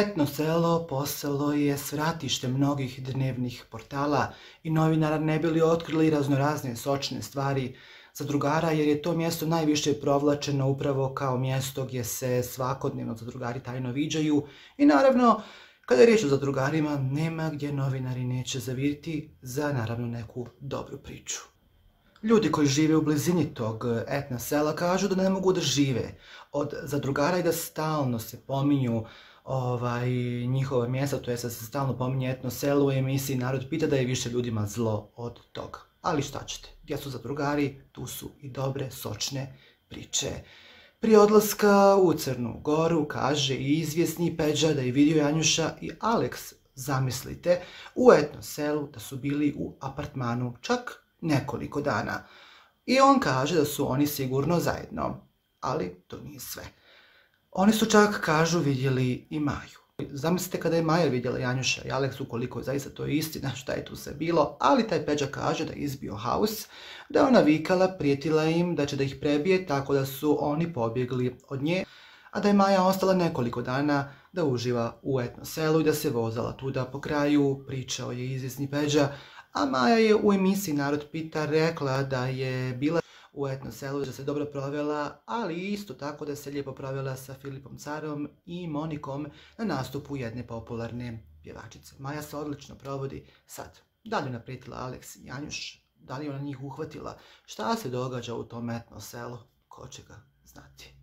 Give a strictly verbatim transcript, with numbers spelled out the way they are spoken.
Etno selo postalo je svratište mnogih dnevnih portala i novinara ne bi li otkrili raznorazne sočne stvari zadrugara, jer je to mjesto najviše provlačeno upravo kao mjesto gdje se svakodnevno zadrugari tajno viđaju i naravno, kada je riječ o zadrugarima, nema gdje novinari neće zaviriti za naravno neku dobru priču. Ljudi koji žive u blizini tog etno sela kažu da ne mogu da žive od zadrugara i da stalno se pominju ovaj, njihova mjesta, to je da se stalno pominje etno selo u emisiji Narod pita, da je više ljudima zlo od toga. Ali šta ćete, gdje su zadrugari, tu su i dobre, sočne priče. Prije odlaska u Crnu Goru kaže i izvjesni Peđa da je vidio Janjuša i Aleks, zamislite, u etno selu da su bili u apartmanu čak nekoliko dana. I on kaže da su oni sigurno zajedno, ali to nije sve. Oni su čak, kažu, vidjeli i Maju. Zamislite kada je Maja vidjela Janjuša i Aleksu, koliko zaista to je istina, šta je tu sve bilo, ali taj Peđa kaže da je izbio haos, da je ona vikala, prijetila im da će da ih prebije, tako da su oni pobjegli od nje, a da je Maja ostala nekoliko dana da uživa u etno selu i da se vozala tuda. Po kraju pričao je izvjesni Peđa, a Maja je u emisiji Narod pita rekla da je bila u etno selu, da se dobro provela, ali isto tako da se lijepo provela sa Filipom Carom i Monikom na nastupu jedne popularne pjevačice. Maja se odlično provodi sad. Da li je naprijetila Aleks i Janjuš? Da li je ona njih uhvatila? Šta se događa u tom etno selu? Ko će ga znati?